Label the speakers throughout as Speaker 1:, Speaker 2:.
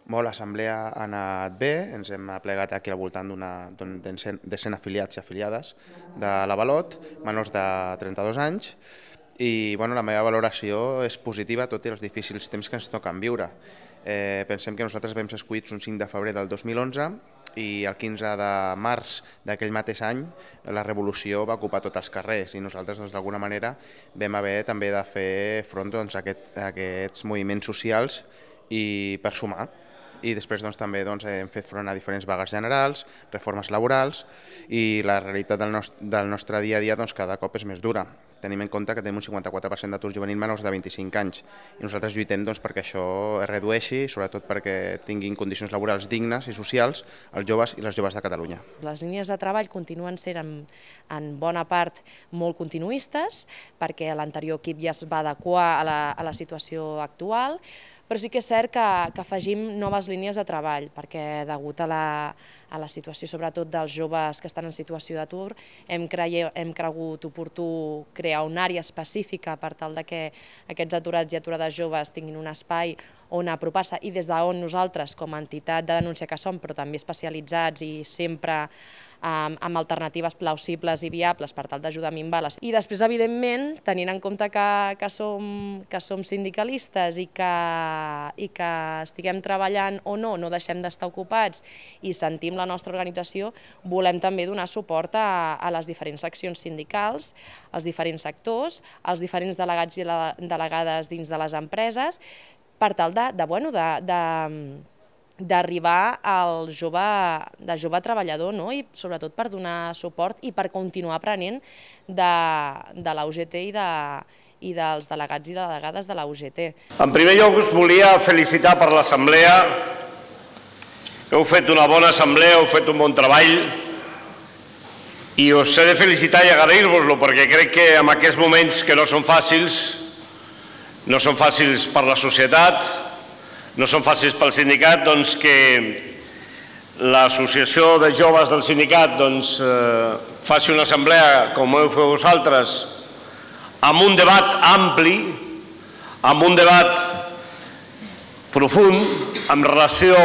Speaker 1: L'assemblea ha anat bé, ens hem aplegat aquí al voltant de 100 afiliats i afiliades de l'Avalot, menors de 32 anys, i la meva valoració és positiva tot i els difícils temps que ens toquen viure. Pensem que nosaltres vam ser escollits un 5 de febrer del 2011 i el 15 de març d'aquell mateix any la revolució va ocupar tots els carrers i nosaltres d'alguna manera vam haver també de fer front a aquests moviments socials i per sumar. I després també hem fet front a diferents vagues generals, reformes laborals i la realitat del nostre dia a dia cada cop és més dura. Tenim en compte que tenim un 54% d'atur juvenil menors de 25 anys i nosaltres lluitem perquè això es redueixi, sobretot perquè tinguin condicions laborals dignes i socials els joves i les joves de Catalunya.
Speaker 2: Les línies de treball continuen sent en bona part molt continuistes perquè l'anterior equip ja es va adequar a la situació actual, però sí que és cert que afegim noves línies de treball perquè degut a la situació sobretot dels joves que estan en situació d'atur hem cregut oportú crear una àrea específica per tal que aquests aturats i aturades joves tinguin un espai on apropar-se i des d'on nosaltres com a entitat de denúncia que som però també especialitzats i sempre amb alternatives plausibles i viables per tal d'ajudar a minvar-les. I després, evidentment, tenint en compte que som sindicalistes i que estiguem treballant o no deixem d'estar ocupats i sentim la nostra organització, volem també donar suport a les diferents seccions sindicals, als diferents sectors, als diferents delegats i delegades dins de les empreses, per tal d'arribar al jove treballador i sobretot per donar suport i per continuar aprenent de la UGT i dels delegats i delegades de la UGT.
Speaker 3: En primer lloc us volia felicitar per l'assemblea. Heu fet una bona assemblea, heu fet un bon treball i us he de felicitar i agrair-vos-lo perquè crec que en aquests moments que no són fàcils per la societat, no són fàcils pel sindicat, que l'associació de joves del sindicat faci una assemblea com heu fet vosaltres amb un debat ampli, amb un debat profund en relació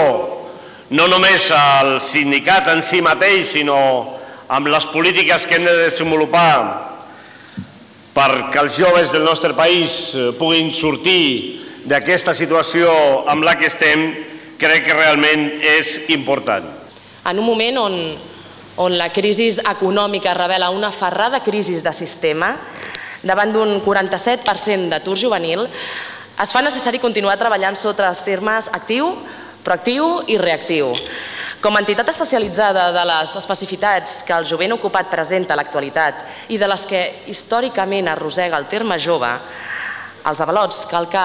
Speaker 3: no només al sindicat en si mateix, sinó amb les polítiques que hem de desenvolupar perquè els joves del nostre país puguin sortir d'aquesta situació amb la que estem, crec que realment és important.
Speaker 2: En un moment on la crisi econòmica revela una ferrada crisi de sistema, davant d'un 47% d'atur juvenil, es fa necessari continuar treballant sota els termes actiu, proactiu i reactiu. Com a entitat especialitzada de les especificitats que el jovent ocupat presenta a l'actualitat i de les que històricament arrossega el terme jove, als avalots cal que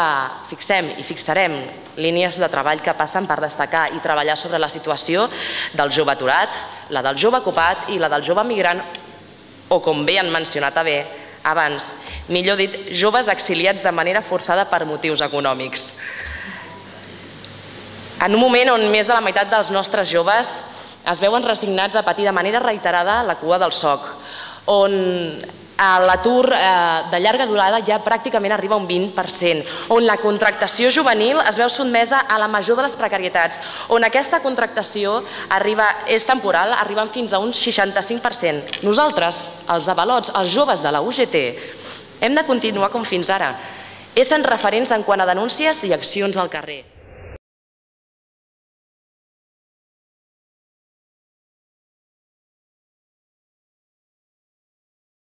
Speaker 2: fixem i fixarem línies de treball que passen per destacar i treballar sobre la situació del jove aturat, la del jove ocupat i la del jove migrant o, com bé han mencionat abans, millor dit, joves exiliats de manera forçada per motius econòmics. En un moment on més de la meitat dels nostres joves es veuen resignats a patir de manera reiterada la cua del soc, on l'atur de llarga durada ja pràcticament arriba a un 20%, on la contractació juvenil es veu sotmesa a la major de les precarietats, on aquesta contractació és temporal, arribant fins a un 65%. Nosaltres, els avalots, els joves de la UGT, hem de continuar com fins ara, essent referents en quant a denúncies i accions al carrer.